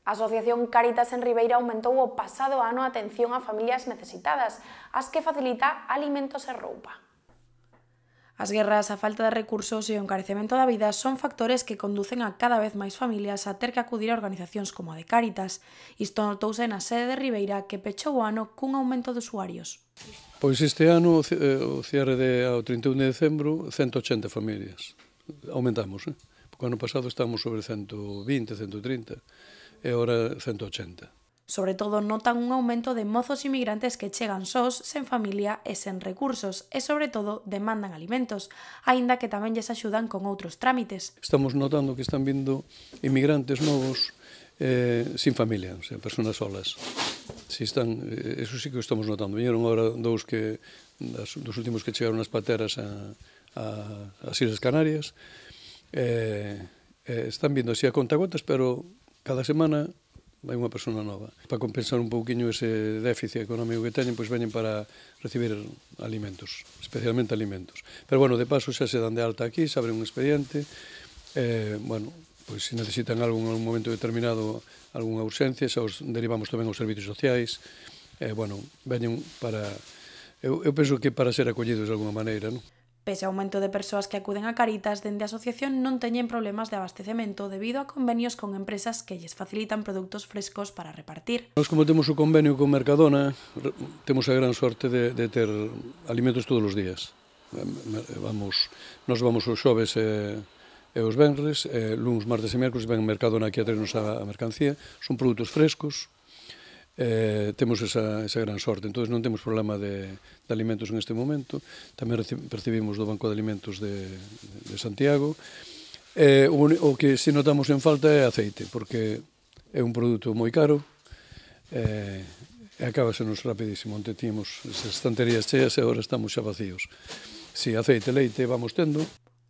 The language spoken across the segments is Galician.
A Asociación Cáritas en Ribeira aumentou o pasado ano a atención a familias necesitadas, as que facilita alimentos e roupa. As guerras, a falta de recursos e o encarecemento da vida son factores que conducen a cada vez máis familias a ter que acudir a organizacións como a de Cáritas. Isto notouse na sede de Ribeira, que pechou o ano cun aumento de usuarios. Pois este ano, o cierre ao 31 de decembro, 180 familias. Aumentamos, porque o ano pasado estábamos sobre 120, 130, e agora 180. Sobre todo notan un aumento de mozos inmigrantes que chegan sós, sen familia e sen recursos, e sobre todo demandan alimentos, aínda que tamén lles axudan con outros trámites. Estamos notando que están vindo inmigrantes novos sin familia, o sea, personas solas. Eso sí que o estamos notando. Viñeron agora dos últimos que chegaron as pateras ás Islas Canarias. Están vindo así a contagotas, pero cada semana hai unha persona nova. Para compensar un pouquiño ese déficit económico que teñen, pois veñen para recibir alimentos, especialmente alimentos. Pero, bueno, de paso xa se dan de alta aquí, se abre un expediente, bueno, pois se necesitan algo en algún momento determinado, algunha urxencia, xa os derivamos tamén aos servicios sociais, bueno, veñen para... Eu penso que para ser acollidos de alguna maneira, non? Pese ao aumento de persoas que acuden a Cáritas, dende a asociación non teñen problemas de abastecemento debido a convenios con empresas que lles facilitan produtos frescos para repartir. Nós, como temos o convenio con Mercadona, temos a gran sorte de ter alimentos todos os días. Nos vamos os xoves e os venres, luns, martes e mércoles ven Mercadona aquí a traernos a mercancía. Son produtos frescos, temos esa gran sorte, entón non temos problema de alimentos en este momento. Tamén percibimos do Banco de Alimentos de Santiago. O que si notamos en falta é aceite, porque é un produto moi caro e acábasenos rapidísimo. Onte tínhamos as estanterías cheas e agora estamos xa vacíos. Si, aceite, leite vamos tendo.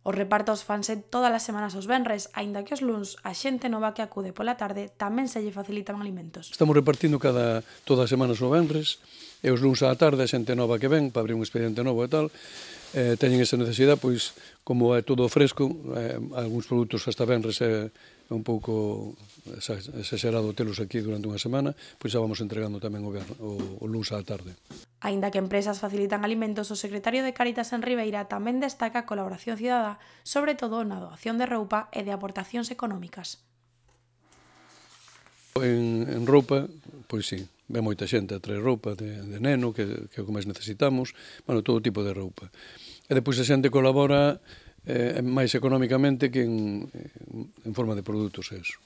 Os repartos fanse todas as semanas os venres, aínda que os luns a xente nova que acude pola tarde tamén se lle facilitan alimentos. Estamos repartindo todas as semanas o venres, e os luns á tarde a xente nova que ven, para abrir un expediente novo e tal, teñen esa necesidade, pois, como é todo fresco, algúns produtos hasta venres é un pouco exagerado telos aquí durante unha semana, pois xa vamos entregando tamén o luns á tarde. Aínda que empresas facilitan alimentos, o secretario de Cáritas en Ribeira tamén destaca a colaboración cidadá, sobre todo na doación de roupa e de aportacións económicas. En roupa, pois sí, ve moita xente a traer roupa de neno, que é o que máis necesitamos, bueno, todo tipo de roupa. E depois a xente colabora máis económicamente que en forma de produtos, eso.